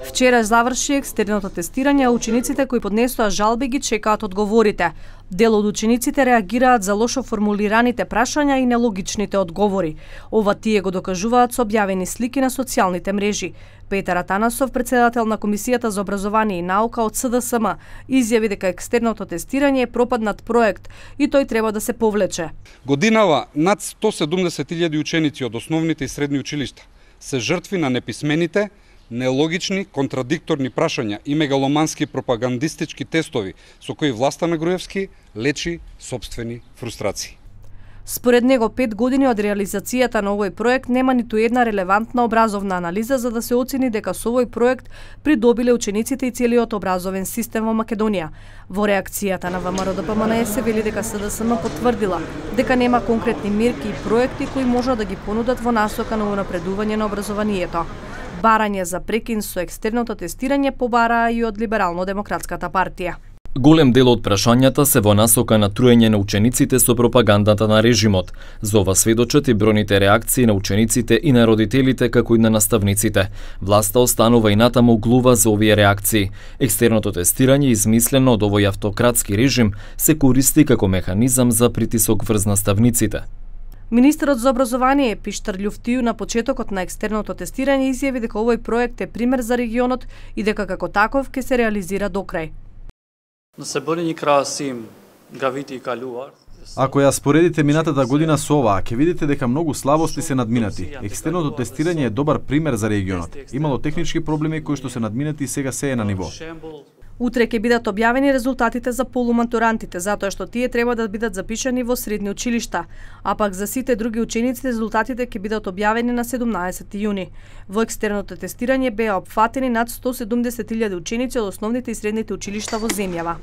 Вчера заврши екстерното тестирање, а учениците кои поднесоа жалби ги чекаат одговорите. Дел од учениците реагираат за лошо формулираните прашања и нелогичните одговори. Ова тие го докажуваат со објавени слики на социјалните мрежи. Петар Атанасов, председател на Комисијата за образование и наука од СДСМ, изјави дека екстерното тестирање е пропаднат проект и тој треба да се повлече. Годинава над 170.000 ученици од основните и средни училишта се жртви на неписмените, нелогични, контрадикторни прашања и мегаломански пропагандистички тестови со кои власта на Груевски лечи сопствени фрустрации. Според него, 5 години од реализацијата на овој проект нема ниту една релевантна образовна анализа за да се оцени дека со овој проект придобиле учениците и целиот образовен систем во Македонија. Во реакцијата на ВМРО-ДПМНЕ се вели дека СДСМ потврдила дека нема конкретни мерки и проекти кои можат да ги понудат во насока на унапредување на образованието. Барање за прекин со екстерното тестирање побараа и од Либерално-демократската партија. Голем дел од прашањата се во насока на труење на учениците со пропагандата на режимот. За ова сведочат и бројните реакции на учениците и на родителите како и на наставниците. Власта останува и натаму глува за овие реакции. Екстерното тестирање, измислено од овој автократски режим, се користи како механизам за притисок врз наставниците. Министерот за образование Пиштар Љуфтију на почетокот на екстерното тестирање изјави дека овој проект е пример за регионот и дека како таков ќе се реализира до крај. Ако ја споредите минатата година со оваа, ќе видите дека многу слабости се надминати. Екстерното тестирање е добар пример за регионот. Имало технички проблеми кои што се надминати и сега се е на ниво. Утре ќе бидат објавени резултатите за полуматурантите, затоа што тие треба да бидат запишани во средни училишта, а пак за сите други ученици резултатите ќе бидат објавени на 17 јуни. Во екстерното тестирање беа опфатени над 170.000 ученици од основните и средните училишта во земјава.